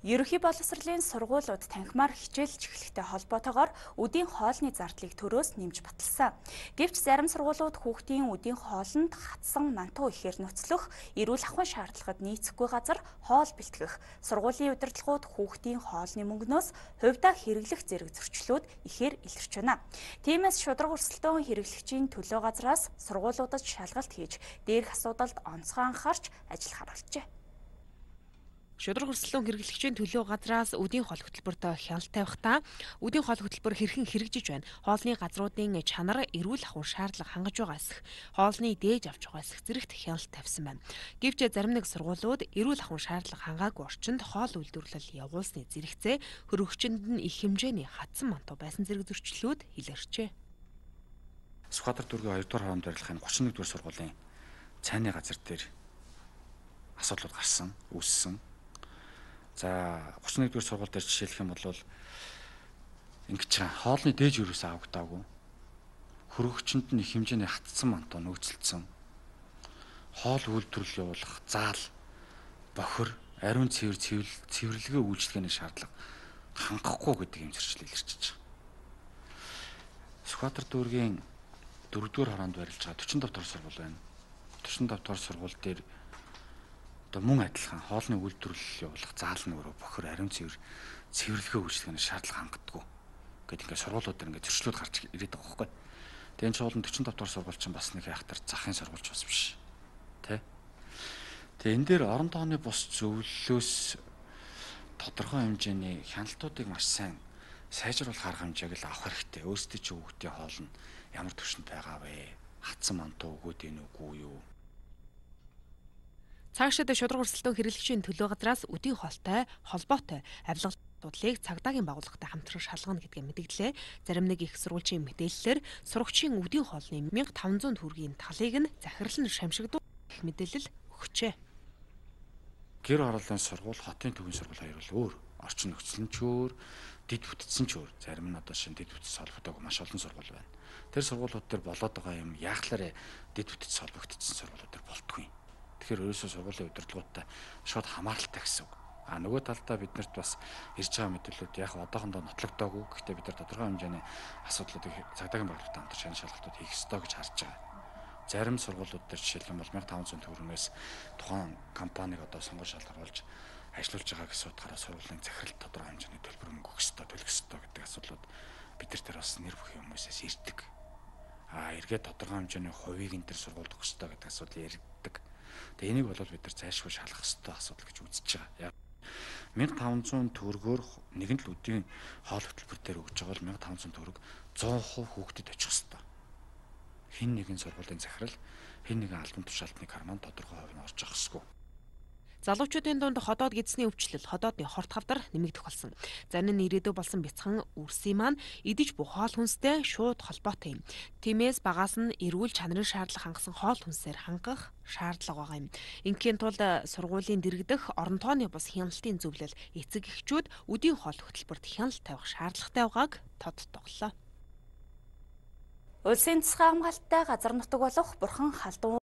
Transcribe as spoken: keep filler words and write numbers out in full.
Ерөнхий боловсролын сургуулиуд танхимаар хичээлж эхлэхтэй холбоотойгоор үдийн хоолны зардлыг төрөөс нэмж баталсан. Гэвч зарим сургуулиуд хүүхдийн үдийн хоолнд хатсан мантуу ихээр нөхцлөх, эрүүл ахуйн шаардлагад нийцэхгүй газар хоол бэлтгэх, сургуулийн удирдлагууд хүүхдийн хоолны мөнгнөөс хувьдаа хэрэглэх зэрэг зөрчлүүд ихээр илэрч байна. Тиймээс шударга өрсөлдөөн хэрэглэгчийн төлөө газраас сургуулиудад шалгалт хийж, дээрх асуудалд онцгой анхаарч ажил харуулжээ. Шударга өрсөлдөөн хэрэглэгчийн төлөө газраас үдийн хоол хөтөлбөрт хяналт тавихдаа үдийн хоол хөтөлбөр хэрхэн хэрэгжиж байна. Хоолны газруудын чанар, эрүүл ахуйн шаардлага хангаж байгаа эсэх, хоолны дээж авч байгаа эсэх зэрэгт хяналт тавьсан байна. Гэвч зарим нэг сургуулиуд эрүүл ахуйн шаардлага хангаагүй орчинд хоол үйлдвэрлэл явуулсны зэрэгцээ хөрөгчөнд нь их хэмжээний хатсан мантуу байсан зэрэг зөрчлүүд илэрчээ. Сүхбаатар дүүргийн хоёрдугаар хооронд барилгын гурван нэгдүгээр сургуулийн цайны газар дээр асуудлууд гарсан, үүссэн. За гурван нэгдүгээр сургууль дээр жишээлх юм бол ингэж байгаа хоолны дээж өрөөс авагдаагүй. Хөрөгчөнд нь их хэмжээний хатсан мантуу нөөцлөсөн. Хоол үйлдвэрлэл явуулах заал, бохир, ариун цэвэр цэвэрлэгээ үйлчлэгээний шаардлага хангахгүй гэдэг юм зөрчил илэрчиж байгаа. Сүхбаатар дүүргийн дөрөвдүгээр хоронд барилж байгаа дөрвөн тавь дахь сургууль байна. дөрвөн тавь дахь сургууль дээр одоо мөн адилхан хоолны үйлдвэрлэл явуулах заал нь өөрөө бохир, ариун цэвэр цэвэрлэгээ үйлчлэгээний шаардлага хангадаггүй гэдэг ингээд сургуулиуд дээр ингээд зөрчлүүд гарч ирээд байгаа байхгүй. Тэгээ энэ чуулган дөрвөн тавь дахь сургууль чинь бас нэг яхтар захын сургуульч бас биш. Тэ? Тэгээ энэ дээр орон тооны бус зөвлөлөөс тодорхой хэмжээний хяналтуудыг маш сайн сайжруулах арга хэмжээг л авах хэрэгтэй. Өөрсдөө чи хүүхдийн хоол нь ямар төвшөнд байгаа вэ? Хатсан мантуу өгөөд энэ үгүй юу? Цаашид шударга өрсөлдөөн хэрэглэгчийн төлөө газраас үдийн хоолтой холбоотой авилгалтлыг цагдаагийн байгууллагатай хамтран шалгана гэдгээ мэдгдлээ. Зарим нэг их сурвалжийн мэдээллээр сурагчийн үдийн хоолны мянга таван зуун төгрөгийн талыг нь захирлан шамшигдуулах гэх мэдээлэл өгчээ. Гэр ороолын сургууль, хотын төвийн сургууль хоёр бол өөр. Орчин нөхцөл нь ч өөр, дид бүтцэн ч өөр. Зарим нь одоо шинэ дид бүтц холбогдоогүй маш олон сургууль байна. Тэр сургуулиуд дээр болоод байгаа юм яахлаарэ дид бүтц холбогдсон сургуулиуд дээр болтгүй. Тэгэхээр ерөөсөө сургуулийн удирдлагуудтай шууд хамааралтай гэсэн үг. А нөгөө талдаа биднэрт бас ирж байгаа мэдээлэлүүд яг одоохондоо нотлогдоогүй. Гэхдээ бид нар тодорхой хэмжээний асуудлуудыг цагдаагийн байгууллагатай хамтарч шийдэх шалгалтууд хийх ёстой гэж харж байгаа. Зарим сургуулиуд дээр жишээлбэл мянга таван зуун төгрөгөөс тухайн компаниг одоо сонгож шалгаруулж ажиллуулж байгаа гэсэн утгаараа сургуулийн захирал тодорхой хэмжээний төлбөр мөнгө өгөх ёстой, төлөх ёстой гэдэг асуудлууд бид нар дээр бас нэр бүхий хүмүүсээс ирдэг. А эргээд тодорхой хэмжээний хувийг энэ төр сургуульд өгөх ёстой гэдэг асуудал яригддаг. Тэгээ энийг бол бид нар зайлшгүй шалгах ёстой асуудал гэж үзэж байгаа. мянга таван зуун төгрөгөөр нэгэн л үдийн хоол хөтөлбөр дээр өгж байгаа бол мянга таван зуун төгрөг зуун хувь хүүхдэд очих ёстой. Хин нэгэн сургуулийн захирал, хин нэгэн албан тушаалтны карман тодорхой хувь нь орж авах ёсгүй. Залуучуудын дунд ходоод гидсний өвчлөл, ходоодны хорт хавдар нэмэгдэх болсон. Зарим нь ирээдүй болсон бяцхан үрсийн маань идэж бух хоол хүнстэй шууд холбоотой юм. Тиймээс багаас нь эрүүл чанарын шаардлага хангасан хоол хүнсээр хангах шаардлага байгаа юм. Ингийн тулд сургуулийн дэргэдэх орон тооны бус хяналтын зөвлөл эцэг эхчүүд үдийн хоол хөтөлбөрт хяналт тавих шаардлагатай байгааг тодтоглоо. Улсын засгийн хамгаалалттай газар нутаг болох Бурхан халдун